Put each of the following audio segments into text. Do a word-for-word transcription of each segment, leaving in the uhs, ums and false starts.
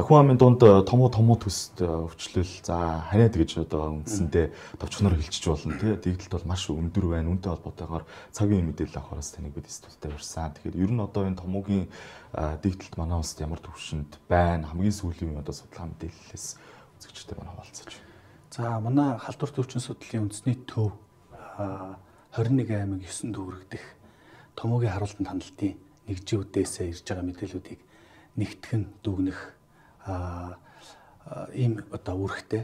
хүн амын дунд томоо томоо төс өвчлөл за ханиад гэж одоо үндсэндээ товчхоноор хэлчих болно тий. Дэгдэлт бол маш өндөр байна. Үүнтэй холбоотойгоор цагийн мэдээлэл авахаас таныг бид студидтэй урьсан. Тэгэхээр ер нь одоо энэ томоогийн дэгдэлт манай улсад ямар төвшөнд байна? Хамгийн сүүлийн одоо судалгаа мэдээллээс үзэгчтэй манай хаваалцаж байна. За манай халдвар төвчин судлалын үндэсний төв хорин нэг аймаг ёсон дүүрэгдэх томоогийн харуултанд хандлтын нэгжүүдээс ирж байгаа мэдээллүүдийг нэгтгэн дүгнэх ийм одоо үүрэгтэй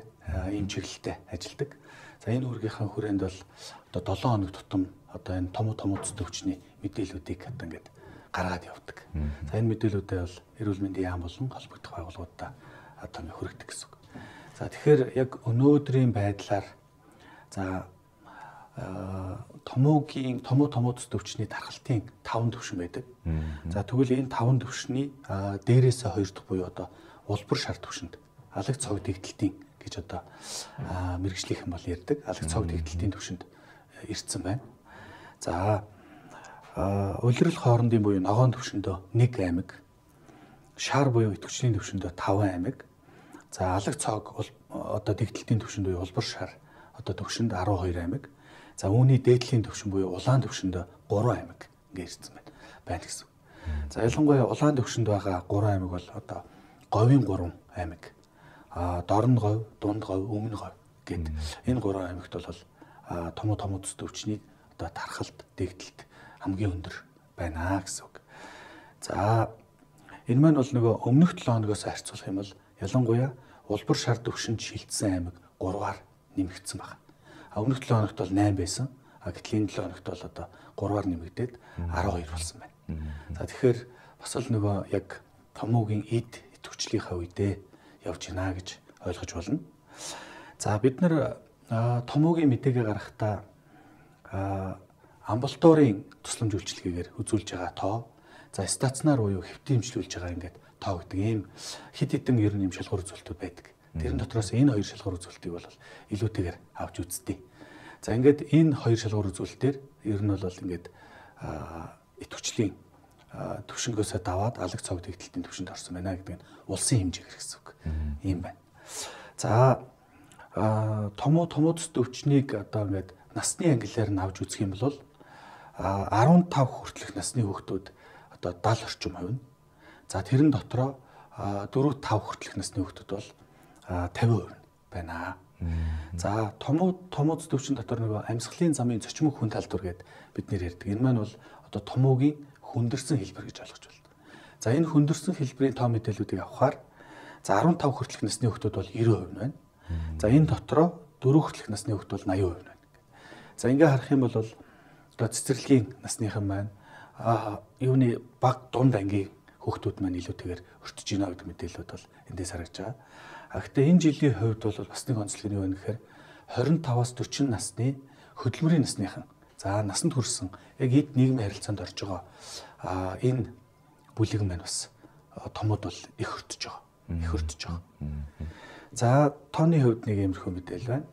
ийм чиглэлтэй ажилладаг. За энэ үүргийнхаа хүрээнд бол одоо долоон хоног тутам одоо энэ том том төс төвчний мэдээллүүдийг одоо ингээд гаргаад явдаг. За энэ мэдээллүүдээ бол эрүүл мэндийн яам болон холбогдох байгууллагуудаа одоо ингээд хүргэдэг гэсэн үг. За тэгэхээр яг өнөөдрийн байдлаар за томоогийн томо томо төс төвчний дархалтын таван төвшин байдаг. За тэгвэл энэ таван төвшний дээрээсээ хоёр дахь буюу одоо улбар шар төвшөнд алаг цог дэгдэлтийн гэж одоо мэргэжлийнхэн бол ярьдаг. Алаг цог дэгдэлтийн төвшөнд ирсэн байна. За улирал хоорондын буюу ногоон төвшөндөө нэг аймаг, шар буюу идэвхжлийн төвшөндөө таван аймаг. За алаг цог одоо дэгдэлтийн төвшөнд буюу улбар шар одоо төвшөнд арван хоёр аймаг. За үүний дээдлийн төвшин буюу улаан төвшөнд гурван аймаг ингээ ирсэн байна. Байна гэсэн. За ялангуяа улаан төвшөнд байгаа гурван аймаг бол одоо говийн гурван аймаг. А дорн говь, дунд говь, өмнө говь гэд энэ гурван аймагт бол томо томо төс төвчний одоо тархалт, дэгдэлт хамгийн өндөр байна гэсэн үг. За энэ маань бол нөгөө өмнөх долоо хоногоос харьцуулах юм бол ялангуяа улбар шар төвшөнд шилжсэн аймаг гурваар нэмэгдсэн байна. А өмнөх долоо хоногт бол найман байсан. А гэтэл энэ долоо хоногт бол одоо гурваар нэмэгдээд арван хоёр болсон байна. За тэгэхээр бас л нөгөө яг томоогийн эд идэвхжлийнхаа үедээ явж гинэ гэж ойлгож болно. За бид нар томоогийн мэдээгээ гаргахдаа амбулаторийн тусламж үйлчилгээгээр үзүүлж байгаа тоо, за стационар буюу хэвтийн эмчилүүлж байгаа ингээд тоо гэдэг ийм хэд хэдэн ер нь юм шалгуур үзүүлэлтүүд байдаг. Тэрэн дотроос энэ хоёр шалгуур үзүүлэлтийг бол илүүтэйгээр авч үзтээ. За ингээд энэ хоёр шалгуур үзүүлэлтээр ер нь бол ингээд идэвхжлийн төвшнгөөсөө даваад алаг цог дэгдэлтийн төвшөнд орсон байна гэдэг нь улсын хэмжээгээр гэсэн үг. Ийм байна. За томо томо төс төвчнийг одоо ингээд насны ангиллаар нь авч үзэх юм бол арван тав хүртэлх насны хүүхдүүд одоо даал орчим хувь. За тэрэн дотроо дөрөв тав хүртэлх насны хүүхдүүд бол тавин хувь байна. За томо томо төс төвчин дотор нөгөө амьсгалын замын зочмог хүн талдвар гэдэг бид нэр ярьдаг. Энэ маань бол одоо томоогийн хүндэрсэн хэлбэр гэж ойлгож байна. За энэ хүндэрсэн хэлбэрийн тоо мэдээллүүдийг авахаар за арван тав хүртэлх насны хүүхдүүд бол девяносто хувь байна. За энэ дотроо дөрөв хүртэлх насны хүүхдүүд бол восемьдесят хувь байна. За ингээ харах юм бол одоо цэцэрлэгийн насныхан маань а юуны баг дунд ангийн хүүхдүүд маань илүүтэйгээр өртөж гинэ гэдэг мэдээлэлүүд бол эндээс харагдж байгаа. А гэхдээ энэ жилийн хувьд бол бас нэг онцлог нь юу вэ гэхээр двадцать таваас дөрвөн насны хөдөлмөрийн насныхан за насанд хүрсэн яг эд нийгмийн харилцаанд орж байгаа а энэ бүлэг маань бас томод бол их өртөж байгаа. Их өртөж байгаа. За тооны хувьд нэг иймэрхүү мэдээлэл байна.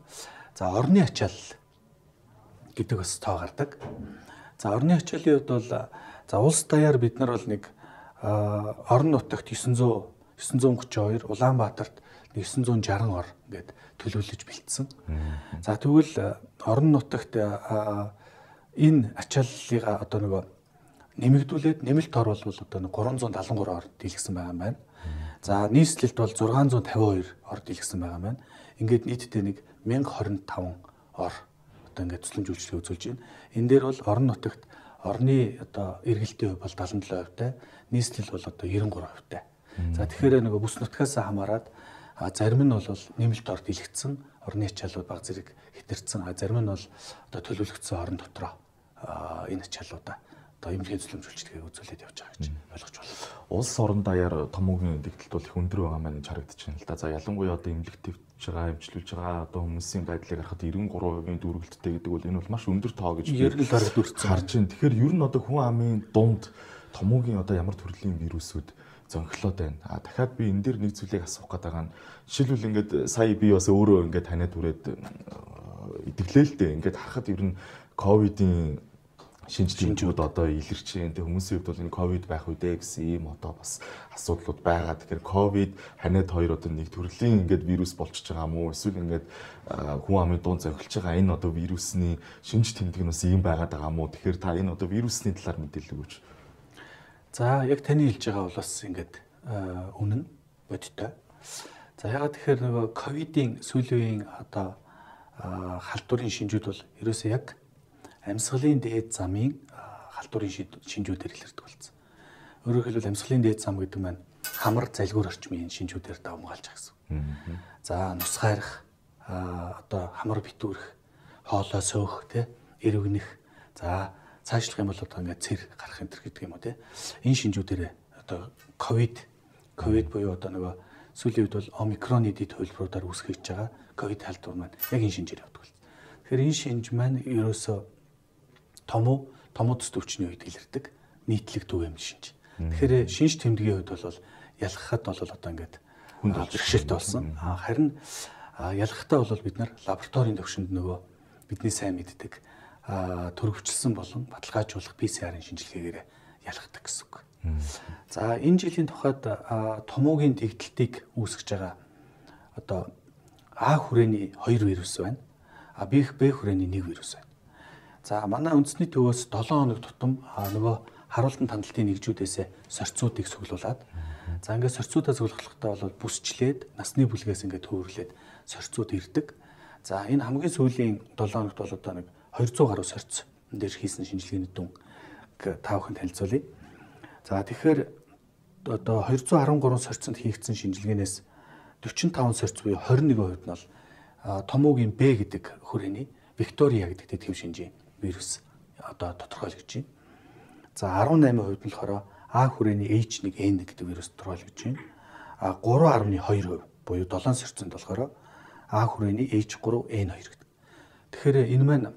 За орны ачаал гэдэг бас тоо гардаг. За орны ачаалын хувьд бол за улс даяар бид нар бол нэг орон нутагт девять зуун гуйч хоёр, Улаанбаатарт девять шестьдесят ор ингээд төлөвлөж бэлдсэн. За тэгвэл орон нутагт энэ ачааллыг одоо нөгөө нэмэгдүүлээд нэмэлт ор бол одоо гурван зуун дагалан гурван ор дийлгсэн байгаа юм байна. За нийслэлд бол зургаан зуун тавин хоёр ор дийлгсэн байгаа юм байна. Ингээд нийтдээ нэг мянга хорин таван ор одоо ингээд тусламж үйлчилгээ үзүүлж байна. Энэ дээр бол орон нутагт орны одоо эргэлтийн хувь бол дагалан долоо хувьтай, нийслэл бол одоо девяносто гурван хувьтай. За тэгэхээр нөгөө бүс нутгаас хамаарат зарим нь бол нэмэлт ор дийлэгдсэн, орны ачааллууд баг зэрэг хэтэрсэн, зарим нь бол одоо төлөвлөгдсөн орон дотроо энэ ачааллуудаа одоо эмнэлгийн тусламж үйлчилгээг үзүүлээд явж байгаа гэж ойлгож байна. Улс орон даяар томоогийн дэгдэлт бол их өндөр байгаа маань харагдаж байна л да. За ялангуяа одоо эмнэлэг төвч байгаа, эмчилүүлж байгаа одоо хүмүүсийн байдлыг харахад девяносто гурван хувийн дүүргэлттэй гэдэг бол энэ бол маш өндөр тоо гэж ер нь харж дүрцсэн харж байна. Тэгэхээр ер нь одоо хүн амын дунд томоогийн одоо ямар төрлийн вирусүүд зөнхлөөд байна. А дахиад би энэ дээр нэг зүйлийг асуух гэдэг байгаа нь жишээлбэл ингээд сая би бас өөрөө ингээд таниад үрээд идэвлээ л дээ. Ингээд харахад ер нь ковидын шинж тэмдгүүд одоо илэрч байна. Тэг хүмүүсийн хувьд бол энэ ковид байх үедээ гэсэн ийм одоо бас асуудлууд байгаа. Тэгэхээр ковид ханиад хоёр одоо нэг төрлийн ингээд вирус болчихж байгаа мó эсвэл ингээд хүн амын дунд зохилж байгаа энэ одоо вирусны шинж тэмдэг нь бас ийм байгаад байгаа мó. Тэгэхээр та энэ одоо вирусны талаар мэдээлэл өгөөч. За яг таны хэлж байгаа бол бас ингээд үнэн бодтой. За ягаад тэгэхээр нөгөө ковидын сүүлийн одоо халдварын шинжүүд бол ерөөсөө яг амьсгалын дээд замын халдварын шинжүүдээр илэрдэг болсон. Өөрөөр хэлбэл амьсгалын дээд зам гэдэг маань хамар залгуур орчмын шинжүүдээр давмгаалж байгаа гэсэн. За нус хайрах, одоо хамар битүүрэх, хоолой сөөх, тэ эрвгэнэх. За цаашлах юм бол одоо ингээд цэр гарах энэ төр гэдэг юм уу те. Энэ шинжүүдээр одоо ковид ковид буюу одоо нөгөө сүүлийн үед бол омикроны дэд хувилбаруудаар үүсгэж байгаа ковид халдвар маань яг энэ шинжээр явдаг болсон. Тэгэхээр энэ шинж маань ерөөсөө томуу томуу төс төвчний үед илэрдэг нийтлэг түгээмэл шинж. Тэгэхээр шинж тэмдгийн хувьд бол ялгахад бол одоо ингээд хүнд бэрхшээлтэй болсон. Харин ялгахтаа бол бид нар лабораторийн төвшөнд нөгөө бидний сайн мэддэг төрөвчлсөн болон баталгаажуулах пэ цэ арын шинжилгээгээр ялгадаг гэсэн үг. За энэ жилийн тухайд томоогийн дэгдэлтийг үүсгэж байгаа одоо А хүрээний хоёр вирус байна. А Б хүрээний нэг вирус байна. За манай үндэсний төвөөс долоон хоног тутам нөгөө харуултан тандалтын нэгжүүдээс сорьцуудыг цуглуулад за ингээд сорьцуудаа цуглахлахдаа бол бүсчлээд насны бүлгээс ингээд төвөрлээд сорьцууд ирдэг. За энэ хамгийн сүүлийн долоон хоногт бол одоо нэг двести гаруй сорьц энэ дээр хийсэн шинжилгээний дүн та бүхэнд танилцуулъя. За тэгэхээр одоо двести дөрвөн сорьцонд хийгдсэн шинжилгээнээс дөрвөн таван сорьц буюу двадцать нэг хувьд нь бол томоогийн Б гэдэг хүрээний Виктория гэдэг дэдгэв шинжийн вирус одоо тодорхойлогдож байна. За дөрвөн восемь хувьд нь болохоор А хүрээний H one N гэдэг вирус тодорхойлогдож байна. А три дөрвөн two хувь буюу seven сорьцонд болохоор А хүрээний H three N two гэдэг. Тэгэхээр энэ маань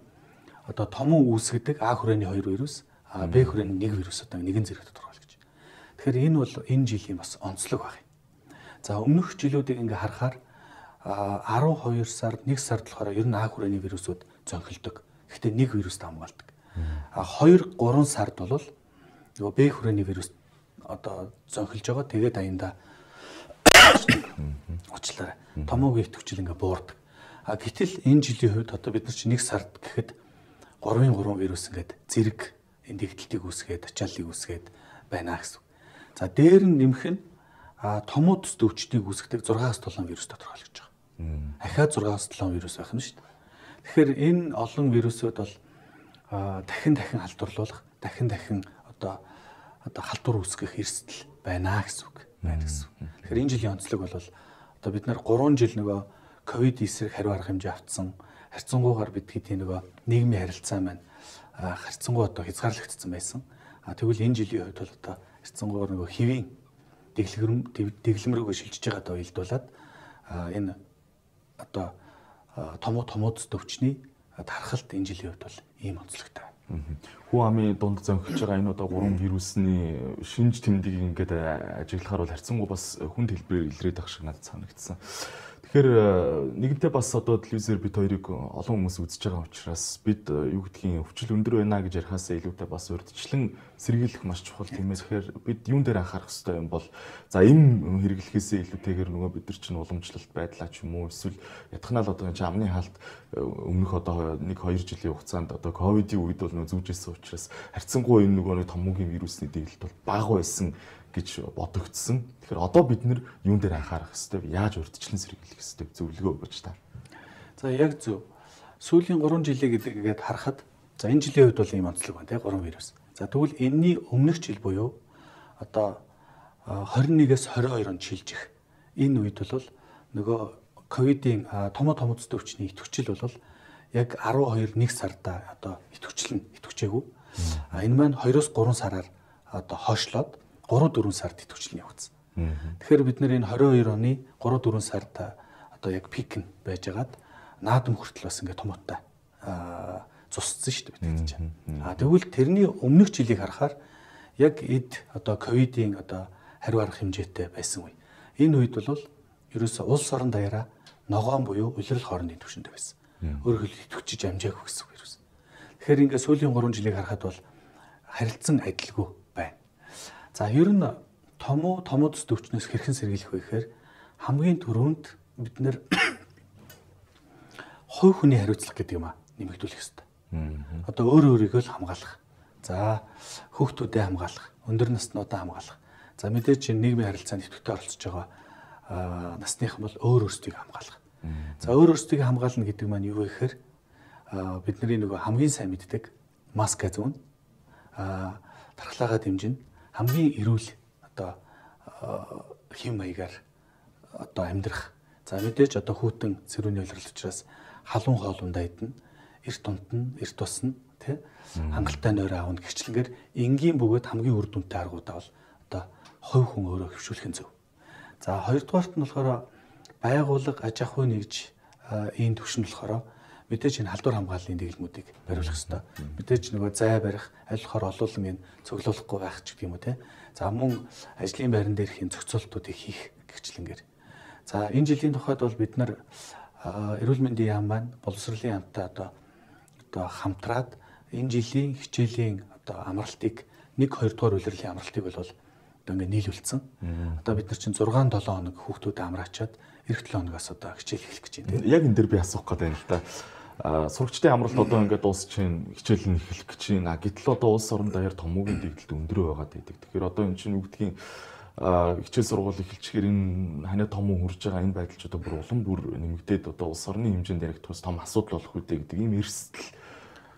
одоо томон үүсгэдэг А хүрээний хоёр вирус, А Б хүрээний нэг вирус одоо нэгэн зэрэг тодорхойлогдож байна. Тэгэхээр энэ бол энэ жилийн бас онцлог баг. За өмнөх жилүүдийг ингээ харахаар twelve сард нэг сард болохоор ер нь А хүрээний вирусууд зөнхөлдөг. Гэхдээ нэг вирус хамгаалдаг. А two three сард бол нөгөө Б хүрээний вирус одоо зөнхөлж байгаа. Тэгээд аяндаа уучлаарай. Томоогийн идэвхжил ингээ буурдаг. А гэтэл энэ жилийн хувьд одоо бид нар чи нэг сард гэхэд three three вирус ингээд зэрэг энэ дэгдэлтийг үүсгээд, ачааллыг үүсгээд байна гэсэн. За дээр нь нэмэх нь томоо төс төвчдийг үүсгдэг six seven вирус тодорхойлогдож байгаа. Ахаад six seven вирус байх нь шүү дээ. Тэгэхээр энэ олон вирусууд бол дахин дахин халдварлуулах, дахин дахин одоо одоо халдвар үүсгэх эрсдэл байна гэсэн үг байна гэсэн. Тэгэхээр энэ жилийн онцлог бол одоо бид нар three жил нөгөө ковид эсрэг хариу арга хэмжээ автсан, харьцангуйгаар бид хэдийн нөгөө нийгмийн харилцаа маань харьцангуй одоо хязгаарлагдсан байсан. А тэгвэл энэ жилийн хувьд бол одоо харьцангуйгаар нөгөө хэвийн дэглэм дэглэмрүүгээ шилжиж байгаадаа уялдуулаад энэ одоо томоо томоодс төвчний тархалт энэ жилийн хувьд бол ийм онцлогтой. Хүн амын дунд зөнхөж байгаа энэ одоо гурван вирусны шинж тэмдгийг ингээд ажиглахаар бол харьцангуй бас хүнд хэлбэрээр илрээд ах шиг надад санагдсан. Тэгэхээр нэгэнтээ бас одоо телевизээр бид хоёрыг олон хүмүүс үзэж байгаа учраас бид юу гэдгийг өвчл өндөр байна гэж ярихаас илүүтэй бас урьдчилан сэргийлэх маш чухал тийм ээ. Тэгэхээр бид юун дээр анхаарах хэрэгтэй юм бол за эм хэрэглэхээсээ илүүтэйгээр нөгөө бид нар чинь уламжлалт байдлаа ч юм уу эсвэл ятгахнаа л одоо энэ амны хаалт өмнөх одоо нэг хоёр жилийн хугацаанд одоо ковидын үед бол нөгөө зүүжсэн учраас харьцангуй энэ нөгөө томоогийн вирусны дэглэлт бол бага байсан гэж бодогдсон. Тэгэхээр одоо бид нэр юун дээр анхаарах хэрэгтэй, яаж урьдчилан сэргийлэх хэрэгтэй зөвлөгөө өгөөч та. За яг зөв. Сүүлийн three жилийн гэдгийг харахад за энэ жилийн үед бол ийм онцлог байна тий three вирус. За тэгвэл энэний өмнөх жил буюу одоо twenty-one-ээс twenty-two онд шилжих энэ үед бол нөгөө ковидын томоо томоц төвчний идэвхжил бол яг twelve нэг сарда одоо идэвхжил нь идэвхжээгүй. А энэ маань two-оос three сараар одоо хойшлоод three four сард идэвхжил нь явагдсан. Тэгэхээр бид нэр энэ twenty-two оны three four сард одоо яг пик нь байжгаад наадам хүртэл бас ингээ томоотой цусцсан шүү дээ бид чинь. А тэгвэл тэрний өмнөх жилийг харахаар яг эд одоо ковидын одоо хариу арга хэмжээтэй байсан үе. Энэ үед бол ерөөсөө улс орон даяараа ногоон буюу улирал хоорондын түвшиндээ байсан. Өөрөөр хэлбэл идэвхжиж амжаагүй гэсэн үг ерөөс. Тэгэхээр ингээд сүүлийн гурван жилийг харахад бол харилцан адилгүй байна. За ер нь томоо томоодс төвчнөөс хэрхэн сэргийлэх вэ гэхээр хамгийн түрүүнд бид нэр хувь хүний хариуцлага гэдэг юм а нэмэгдүүлэх хэрэгтэй. Одоо өөр өөрийгөө л хамгаалах. За хүүхдүүдэд хамгаалах, өндөр наснуудаа хамгаалах. За мэдээж нийгмийн харилцаанд идэвхтэй оролцож байгаа насныхан бол өөр өөрсдийг хамгаалах. За өөр өөрсдийг хамгаална гэдэг маань юу вэ гэхээр бидний нөгөө хамгийн сайн мэддэг маска зүүн а тархлагаа дэмжин хамгийн эрүүл одоо хэм маягаар одоо амьдрах. За мэдээж одоо хүйтэн цэрүүний улирал учраас халуун хоолундаа идэнэ, эрт унтна, эрт тусна, тий хангалттай нойроо аавна гэрчлэнгээр энгийн бөгөөд хамгийн үр дүнтэй аргуудаа бол одоо хувь хүн өөрөө хөвшүүлэх нь зөв. За хоёрдугаарт нь болохоор байгууллага аж ахуй нэгж ийм төвшин болохоор мэдээж энэ халдвар хамгааллын дэглэмүүдийг бариулах хэрэгтэй. Мэдээж нөгөө зай барих, аль болохоор олуулан энэ цоглуулахгүй байх ч гэдэг юм уу те. За мөн ажлын байран дээрх энэ зохицуултуудыг хийх гэрчлэнгээр. За энэ жилийн тухайд бол бид нар эрүүл мэндийн яам маань боловсролын яамтай одоо одоо хамтраад энэ жилийн хичээлийн одоо амралтыг нэг хоёр дугаар улирлын амралтыг бол одоо ингээд нийлүүлсэн. Одоо бид нар чинь зургаан долоон хоног хүүхдүүд амраачаад эх долоон хоногоос одоо хичээл эхлэх гэж байна. Яг энэ дэр би асуух гэдэг юм л да. Сурагчдын амралт одоо ингээд дуусчихын хичээл нь эхлэх гэж байна. Гэтэл одоо улс орон даяар томоогийн дэглэлт өндөр байгаад байдаг. Тэгэхээр одоо энэ чинь үгдгийн хичээл сургууль эхэлчихээр энэ ханиа томоо хурж байгаа энэ байдал ч одоо бүр улам бүр нэмэгдээд одоо улс орны хэмжээнд ярих тус том асуудал болох үедээ гэдэг ийм эрсдэл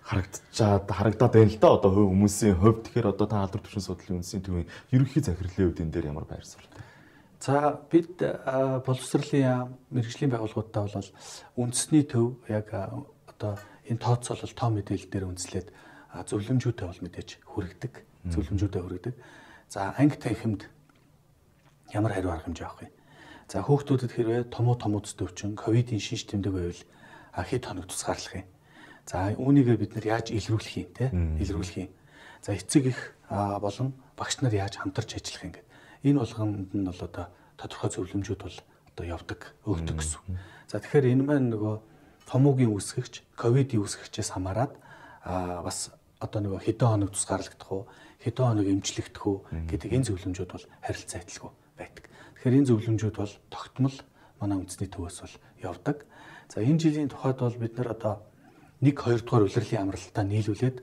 харагдчихад харагдаад байна л да. Одоо хувь хүмүүсийн хувьд тэгэхээр одоо та халдвар төвшин судлалын үндэсний төвийн ерөнхий захирлын хувьд энэ дээр ямар байр суурьтай? За бид боловсролын мэргэжлийн байгууллагуудаа бол үндэсний төв яг одоо энэ тооцоолол тоо мэдээлэл дээр үндэслээд зөвлөмжүүдээ бол мэдээж хүргэдэг. Зөвлөмжүүдээ хүргэдэг. За анги танхимд ямар хариу арга хэмжээ авах вэ? За хүүхдүүдэд хэрвээ томоо томооц төвчин ковидын шинж тэмдэг байвал хэд хоног тусгаарлах юм. За үүнийгээ бид нар яаж илрүүлэх юм те? Илрүүлэх юм. За эцэг их болон багш нар яаж хамтарч ажиллах юм гэдэг. Энэ болгонд нь бол одоо тодорхой зөвлөмжүүд бол одоо явдаг, өгдөг гэсэн. За тэгэхээр энэ маань нөгөө томоогийн үүсгэгч, ковидын үүсгэгчээс хамаарат бас одоо нөгөө хэдэн хоног тусгаарлагдах уу, хэдэн хоног эмчлэгдэх үү гэдэг энэ зөвлөмжүүд бол харилцан адилгүй байдаг. Тэгэхээр энэ зөвлөмжүүд бол тогтмол манай үндэсний төвөөс бол явдаг. За энэ жилийн тухайд бол бид нар одоо нэг хоёр дугаар улирлын амралтаа нийлүүлээд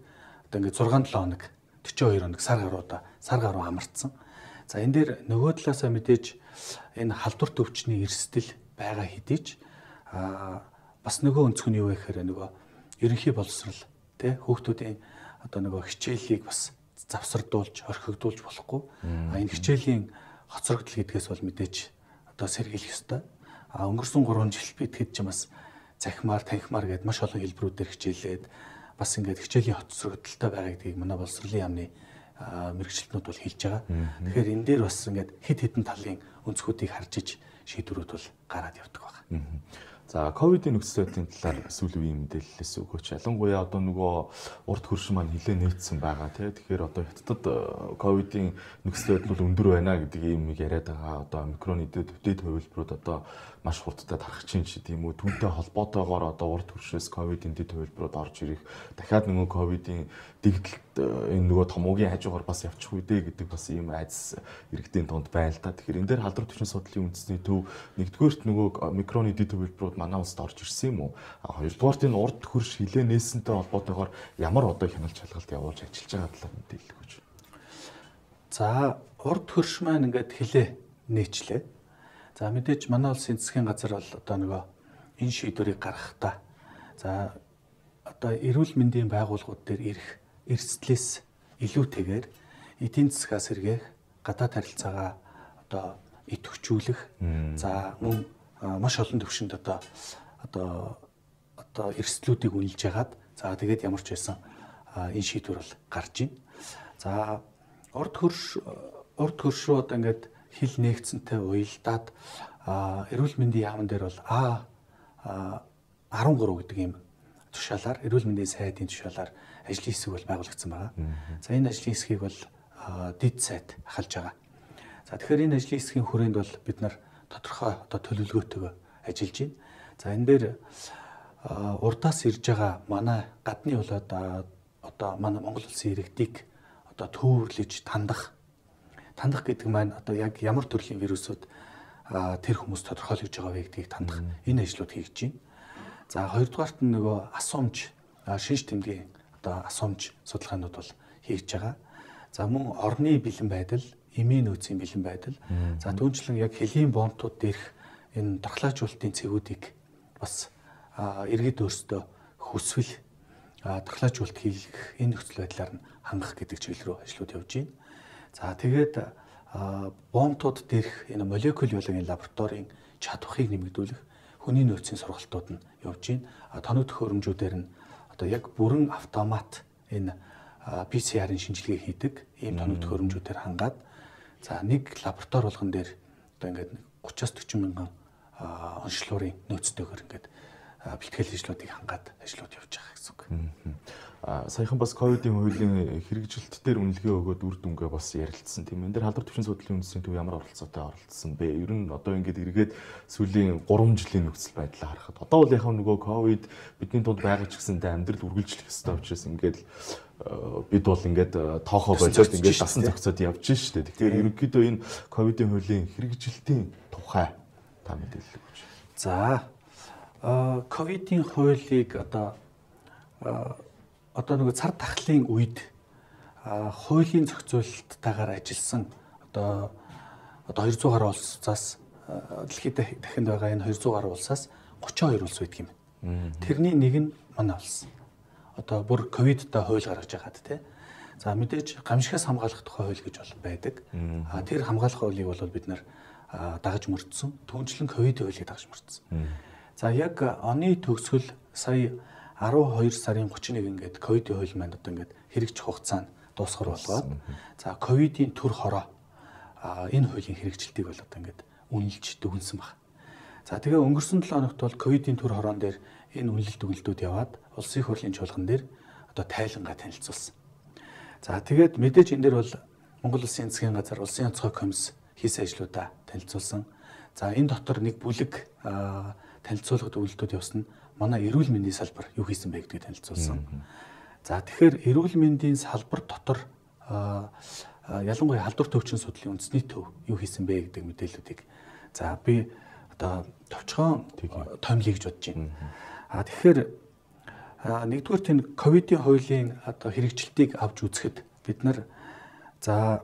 одоо ингээд зургаан долоон хоног, дөрвөн хоёр хоног сар гаруйда сар гаруй амарцсан. За энэ дээр нөгөө талаасаа мэдээж энэ халдвар төвчний эрсдэл байгаа хэдий ч аа бас нөгөө өнцг нь юу вэ гэхээр нөгөө ерөнхий боловсрол тий хүүхдүүдийн одоо нөгөө хичээлийг бас завсардуулж орхигдуулж болохгүй. А энэ хичээлийн хоцрогдол гэдгээс бол мэдээж одоо сэргийлэх ёстой. А өнгөрсөн гурван жил бид хэд ч юм бас захимаар танхимаар гээд маш олон хэлбэрүүдээр хичээлээд бас ингээд хичээлийн хоцрогдолтой байгаа гэдгийг манай боловсролын яамны мэргэжилтнүүд бол хэлж байгаа. Тэгэхээр энэ дээр бас ингээд хэд хэдэн талын өнцгүүдийг харж иж шийдвэрүүд бол гараад явдаг байна. За ковидын нөхцөл байдлын талаар сүүл үеийн мэдээлэлээс өгөөч. Ялангуяа одоо нөгөө урд хөрш маань нэлээд нээсэн байгаа тий. Тэгэхээр одоо хятадд ковидын нөхцөл байдал бол өндөр байна гэдэг юм яриад байгаа. Одоо омикрон дэвтээд хувилбарууд одоо маш хурдтай тархаж чинь ч тийм үү. Түүнтэй холбоотойгоор одоо урд хөршөөс ковидын дэд хувилбарууд орж ирэх. Дахиад нөгөө ковидын дэгдэлт энэ нөгөө томоогийн хажуугаар бас явчих үедээ гэдэг бас ийм айдас иргэдийн тунд байна л та. Тэгэхээр энэ дээр халдвар төвшин судлалын үндэсний төв нэгдүгээрт нөгөө омикроны дэд хувилбарууд манай улсад орж ирсэн юм уу? Хоёрдугаарт энэ урд хөрш хилээ нээсэнтэй холбоотойгоор ямар одоо хяналт шалгалт явуулж ажиллаж байгаа талаар мэдээлэл өгөөч. За урд хөрш маань ингээд хилээ нээчлээ. За мэдээж манай улсын засгийн газар бол одоо нөгөө энэ шийдвэрийг гаргахдаа за одоо эрүүл мэндийн байгууллагууд дээр ирэх эрсдлээс илүүтэйгээр эдийн засгаа сэргээх, гадаад харилцаагаа одоо идэвхжүүлэх, за мөн маш олон төвшөнд одоо одоо одоо эрсдлүүдийг үнэлж ягаад за тэгээд ямар ч байсан энэ шийдвэр бол гарч ийн. За урд хөрш урд хөршөө одоо ингээд хил нээгцэнтэй уялдаад эрүүл мэндийн яамн дээр бол А арван гурав гэдэг ийм тушаалаар эрүүл мэндийн сайдын тушаалаар ажлын хэсэг бол байгуулагдсан байгаа. За энэ ажлын хэсгийг бол дэд сайд ахалж байгаа. За тэгэхээр энэ ажлын хэсгийн хүрээнд бол бид нар тодорхой одоо төлөвлөгөөтэйгээр ажиллаж байна. За энэ дээр урдаас ирж байгаа манай гадны болоод одоо манай Монгол улсын иргэдийг одоо төвөрлөж тандах тандах гэдэг маань одоо яг ямар төрлийн вирусууд тэр хүмүүс тодорхойлж байгаа вэ гэдгийг тандах энэ ажлууд хийж байна. За хоёрдугаарт нь нөгөө асуумж шинж тэмдгийн одоо асуумж судалгаанууд бол хийж байгаа. За мөн орны бэлэн байдал, эмийн нөөцийн бэлэн байдал. За түүнчлэн яг хэлийн бомтууд дээрх энэ дархлаажуулалтын цэгүүдийг бас иргэд өөрсдөө хүсвэл дархлаажуулалт хийх энэ нөхцөл байдлаар нь хангах гэдэг чиглэл рүү ажлууд явж байна. За тэгээд бомтууд дээрх энэ молекул биологийн лабораторийн чадварыг нэмэгдүүлэх хүний нөөцийн сургалтууд нь явж байна. Тоног төхөөрөмжүүдээр нь одоо яг бүрэн автомат энэ пи си ар-ын шинжилгээ хийдэг ийм тоног төхөөрөмжүүдээр хангаад за нэг лаборатори болгон дээр одоо ингээд гураваас дөрвөн мянган онцлогын нөөцтэйгээр ингээд бэлтгэл ажлуудыг хангаад ажлууд явж байгаа гэсэн үг. Аа саяхан бас ковидын хуулийн хэрэгжилт дээр үнэлгээ өгөөд үр дүнгээ бас ярилцсан тийм. Энэ дээр халдвар төвшин судлалын үндэсний төв ямар оролцоотой оролцсон бэ? Ер нь одоо ингээд эргээд сүүлийн гурван жилийн нөхцөл байдлаа харахад одоо бол яг нөгөө ковид бидний дунд байгаа ч гэсэндээ амьдрал үргэлжлэх ёстой учраас ингээд бид бол ингээд тоохоо болоод ингээд дасан зохицоод явж штэ. Тэгэхээр ерөнхийдөө энэ ковидын хуулийн хэрэгжилтийн тухай та мэдээлэл өгөөч. За ковидын хуулийг одоо одоо нөгөө цар тахлын үед хуулийн зохицуулалттайгаар ажилласан одоо одоо двести гаруй улсаас дэлхийд дахинд байгаа энэ двести гаруй улсаас тридцать two улс байдаг юм байна. Тэрний нэг нь манай улс. Одоо бүр ковидтай хууль гаргаж байгаад тий. За мэдээж гамшигаас хамгаалах тухай хууль гэж бол байдаг. А тэр хамгаалах хуулийг бол бид нар дагаж мөрдсөн. Түүнчлэн ковидын хуулийг дагаж мөрдсөн. За яг оны төгсгөл сая арван хоёр сарын гуравч нэг ингээд ковидын хууль маань одоо ингээд хэрэгжих хугацаанд дуусгар болгоод за ковидын төр хороо энэ хуулийн хэрэгжилтийг бол одоо ингээд үнэлж дүгнсэн баг. За тэгээ өнгөрсөн долоо хоногт бол ковидын төр хороон дээр энэ үнэлэлт дүгнэлтүүд яваад улсын их хурлын чуулган дээр одоо тайлангаа танилцуулсан. За тэгээд мэдээж энэ дээр бол Монгол Улсын засгийн газар, улсын онцгой комисс хийсэн ажлуудаа танилцуулсан. За энэ дотор нэг бүлэг танилцуулгад үйлдэлүүд явсан нь манай эрүүл мэндийн салбар юу хийсэн бэ гэдгийг танилцуулсан. За тэгэхээр эрүүл мэндийн салбар дотор ялангуяа халдвар төвчин судлалын үндэсний төв юу хийсэн бэ гэдэг мэдээллүүдийг за би одоо товчхон томлъё гэж бодож байна. А тэгэхээр нэгдүгээр энэ ковидын хуулийн одоо хэрэгжилтийг авч үзэхэд бид нар за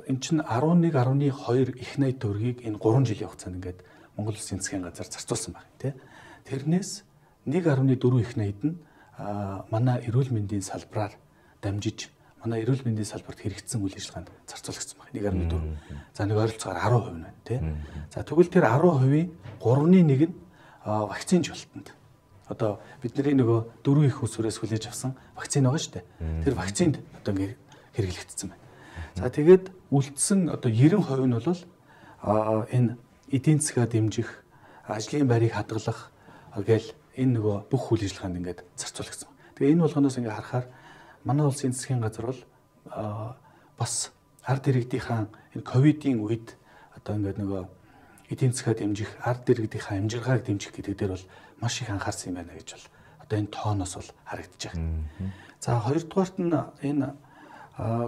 эн чинь арван нэг арван хоёр их найд төгрөгийг энэ гурван жилийн хугацаанд ингээд Монгол Улсын засгийн газар зарцуулсан байна тий. Тэрнээс нэг арван дөрвөн их найд нь манай эрүүл мэндийн салбараар дамжиж манай эрүүл мэндийн салбарт хэрэгжсэн үйл ажиллагаанд зарцуулагдсан байна. нэг арван дөрвөн. За нэг ойролцоогоор арван хувь байна тий. За тэгвэл тэр арван хувийн гуравны нэг нь вакцины жуултанд. Одоо бидний нөгөө дөрвөн их усүрээс хүлээж авсан вакцины байгаа шүү дээ. Тэр вакцинд одоо ингээд хэрэглэгдсэн байна. За тэгээд үлдсэн одоо девяносто хувь нь бол энэ эдийн засгаа дэмжих, ажлын байрыг хадгалах гээл энэ нөгөө бүх үйл ажиллагаанд ингээд зарцуулагдсан. Тэгээ энэ болгоноос ингээд харахаар манай улсын засгийн газар бол бас ард иргэдийнхаа энэ ковидын үед одоо ингээд нөгөө эдийн засгаа дэмжих, ард иргэдийнхаа амжиргааг дэмжих гэдэг дээр бол маш их анхаарсан юм байна гэж бол одоо энэ тооноос бол харагдаж байна. За хоёрдугаарт нь энэ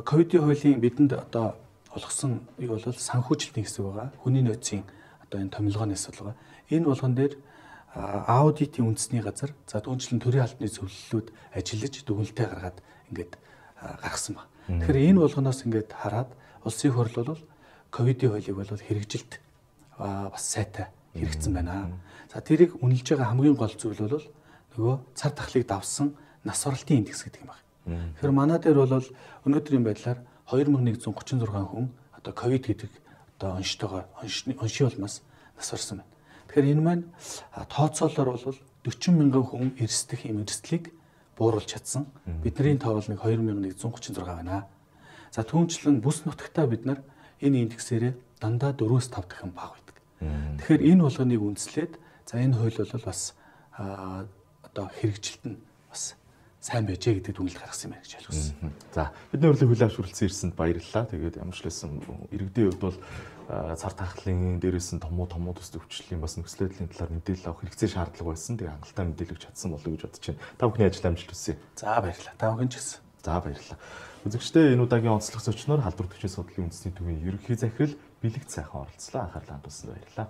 ковидын хуулийн бидэнд одоо олгосон юу бол санхүүжилтийн хэсэг байгаа. Хүний нөөцийн одоо энэ томилгооны асуудал байгаа. Энэ болгон дээр аудитын үндэсний газар за түүнчлэн төрийн албаны зөвлөлүүд ажиллаж дүгнэлтээ гаргаад ингээд гаргасан байна. Тэгэхээр энэ болгоноос ингээд хараад улсын их хурл бол ковидын хуулийг бол хэрэгжилт бас сайтай хэрэгжсэн байна. За тэрийг үнэлж байгаа хамгийн гол зүйл бол нөгөө цар тахлыг давсан нас оролтын индекс гэдэг юм байна. Тэгэхээр манай дээр бол өнөөдрийн байдлаар two thousand one hundred thirty-six хүн одоо ковид гэдэг одоо онцтойгоор оншийн улмаас нас орсон байна. Тэгэхээр энэ маань тооцоолоор бол forty мянган хүн эрсдэх юм эрсдлийг бууруулж чадсан. Бидний тоо бол нэг two thousand one hundred thirty-six байна. За түүнчлэн бүс нутагтаа бид нар энэ индексээрээ дандаа four-аас five дахин бага байдаг. Тэгэхээр энэ болгоныг үндэслээд за энэ хууль бол бас одоо хэрэгжилт нь бас сайн байжээ гэдэг дүгнэлт гаргасан юм байна гэж ойлгосон. За бидний урилгыг хүлээн авч хүрэлцэн ирсэнд баярлалаа. Тэгээд ямар ч лсэн иргэдийн хувьд бол цар тахлын дээрээс нь томуу томуу төстэй өвчлөлийн бас нөхцөл байдлын талаар мэдээлэл авах хэрэгцээ шаардлага байсан. Тэгээд хангалттай мэдээлэл чадсан болов уу гэж бодож байна. Та бүхний ажил амжилт хүсье. За баярлалаа. Та бүхэн ч гэсэн. За баярлалаа. Үзэгчдээ энэ удаагийн онцлог зочноор халдвар төвчийн судлалын үндэсний төвийн ерөнхий захирал Бэлэгт сайхан оролцлоо. Анхаарлаа хандуулсанд баярлалаа.